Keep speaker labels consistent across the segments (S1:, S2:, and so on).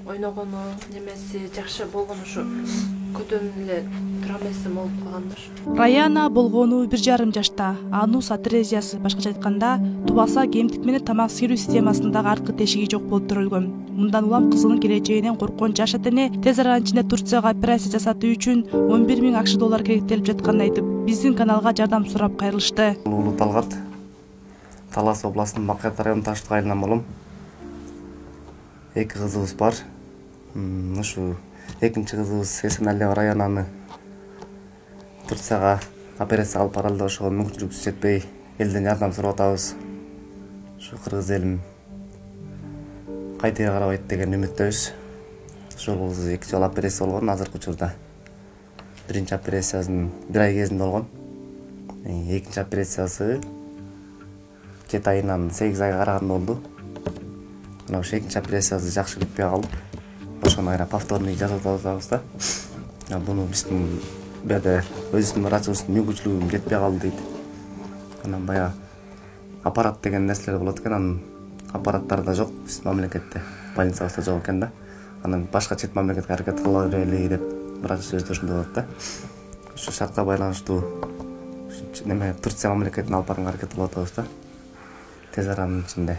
S1: Ойногону немеси жакшы болгон ушу көтөнүп эле тура эмесим болуп калгандыр.
S2: Раяна болгону 1,5 жашта. Анус атрезиясы, башкача айтканда, тубаса кемтик менен тамак сиирүү системасындагы арткы тешиги жок болуп төрөлгөн. Мындан улам кызынын келечегинен корккон жаш ата-эне тез арада ичинде Турцияга операция жасатуу үчүн 11 000 акш доллар керектелип жатканын айтып, биздин каналга жардам сурап кайрылышты.
S3: Улуу Талгат, Талас областынын Макат районунун Таштык айылынан болом. 2 кызыбыз бар. Ушу экинчи кызыбыз Эсенали Раянаны Турцияга операция алып баралы деп ошого мүмкүнчүлүгүбүз жетпей, элден жардам сурап атабыз. Ушу кыргыз элим кайтыга карабайт деген үмүттөбүз. Ошол кызыбыз 2 жолу операция болгон, азыркы учурда. Биринчи операциясын 1 ай кезинде болгон. Экинчи операциясы 7 айынан 8 айга караганда болду. Мына ошо экинчи операциясы жакшы бүтпөй калып, ошону кайра повторный жасап атабыз да. Буну биздин бerde өзүбүздүн врачыбыздын мүмкүнчүлүгү жетпей калды дейт. Анан баягы аппарат деген нерселер болот экен, анын аппараттары да жок биздин мамлекетте, больницабызда жок экен да. Анан башка чет мамлекетке аракет кыла берели деп врачыбыз ошондой болот да. Ошо шартка байланыштуу неме Турция мамлекетине алып барганга аракет кылып атабыз да. Тез аранын ичинде.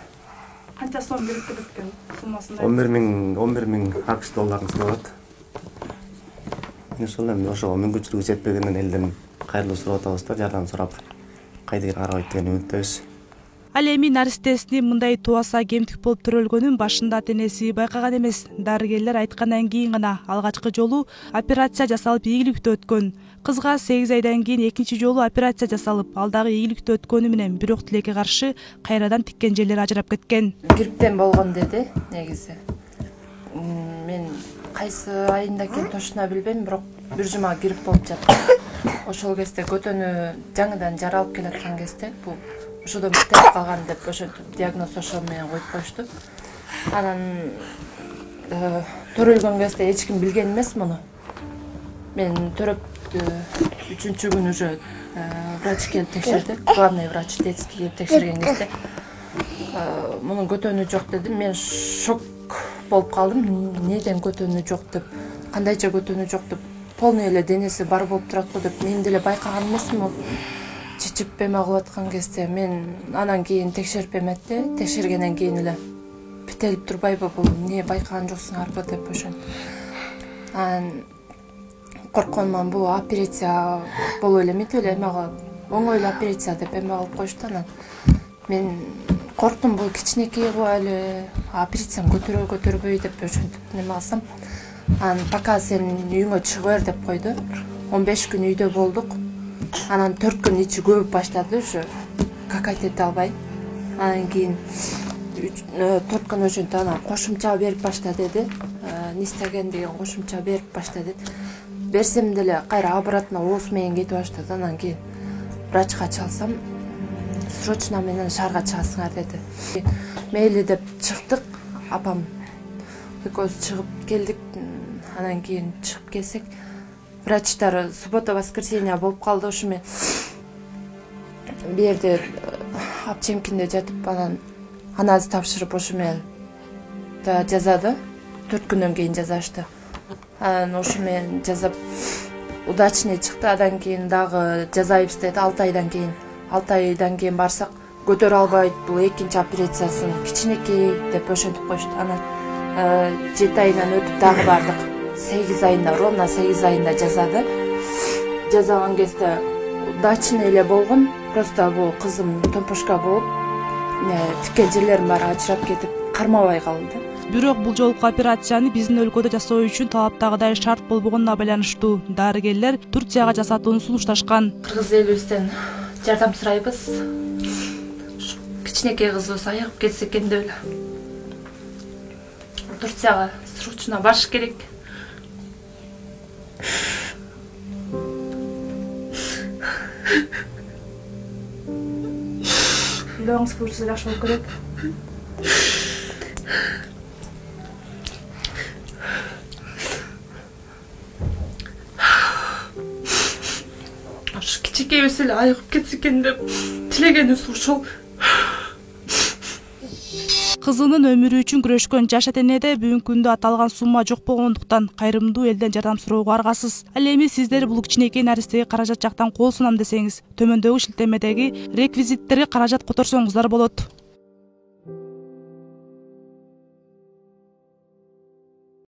S2: Канча сом берип кетет экен суммасын?
S3: 11 000 акш долларын сурап. Ошол эми ошого мүмкүнчүлүгү жетпегенден элден кайрылуу сурап атабыз да, жардам сурап кайдыгер карабайт деген үмүттөбүз.
S2: Ал эми наристесинин мындай тубаса кемтик болуп төрөлгөнүн башында ата-энеси байкаган эмес. Дарыгерлер айткандан кийин гана алгачкы жолу операция жасалып ийгиликтүү өткөн. Кызга 8 айдан кийин экинчи жолу операция жасалып, ал дагы ийгиликтүү өткөнү менен бирок тилекке каршы кайрадан тиккен жерлери ажырап кеткен.
S1: Грипптен болгон деди негизи. Мен кайсы айында экенин точно билбейм, бирок бир жума грипп болуп жаткан. Ошол кезде көтөнү жаңыдан жаралып келаткан кезде бул ошодон битирип калган деп ошентип диагноз ошол менен коюп коюшту. Анан төрөлгөн кезде эч ким билген эмес муну. Мен төрөптү 3-күн уже врач келип текшерди. Главный врач детский келип текшерген кезде мунун көтөнү жок деди. Мен шок болуп калдым. Неден көтөнү жок деп, кандайча көтөнү жок деп, полный эле денеси бар болуп турат го деп мен деле байкаган эмесмин. Чичип эме кылып аткан кезде мен анан кийин текшерип эметти. Текшергенден кийин эле бителип турбайбы бул, эмне байкаган жоксуңарбы деп ошентип. Анан коркконуман бул операция болуп эле эмитип эле эме кылып, оңой эле операция деп эме кылып коюшту. Анан мен корктум, бул кичинекей кылып эле операцияны көтөрбөй деп ошентип неме кылсам. Анан пока сен үйүңө чыгып бер деп койду. 15 күн үйдө болдук. Анан 4 күн ичи көбүп баштады, ушу какать эте албай. Анан кийин 4 күн ошентип анан кошумча берип башта деди. Нистаген деген кошумча берип башта деди. Берсем деле кайра обратно ооз менен кетип баштады. Анан кийин врачка чалсам, срочно менен шаарга чыгасыңар деди. Мейли деп чыктык, апам экөөбүз чыгып келдик. Анан кийин чыгып келсек, врачтар суббота воскресенье болуп калды. Ушу мен бу жерде Апчемкинде жатып, анан анализ тапшырып ошо менен жазады. 4 күндөн кийин жазашты. Анан ошо менен жазап удачный чыкты. Адан кийин дагы жазайбыз деди 6 айдан кийин. 6 айдан кийин барсак, көтөрө албайт, бул экинчи операциясын кичинекей деп ошентип коюшту. Анан 7 айынан өтүп дагы бардык. 8 айында, ровно 8 айында жазады. Жазаган кезде удачный эле болгон. Просто бул кызым томпошка болуп, тиккен жерлерим баары ажырап кетип, кармабай калды.
S2: Бирок бул жолку операцияны биздин өлкөдө жасоо үчүн талаптагыдай шарт болбогонуна байланыштуу. Дарыгерлер Турцияга жасатууну сунушташкан.
S1: Кыргыз элибизден жардам сурайбыз. Кичинекей кызыбыз айыгып кетсе экен деп эле. Турцияга срочно барыш керек.
S2: Үйлөрүңүз көрсө жакшы болуп кетет.
S1: Ошо кичинекейбиз эле айыгып кетсе экен деп тилегенибиз ушул.
S2: Кызынын өмүрү үчүн күрөшкөн жаш ата энеде бүгүнкү күндө аталган сумма жок болгондуктан кайрымдуу элден жардам суроого аргасыз. Ал эми сиздер бул кичинекей наристеге каражат жактан кол сунам десеңиз, төмөндөгү шилтемедеги реквизиттерге каражат которсоңуздар болот.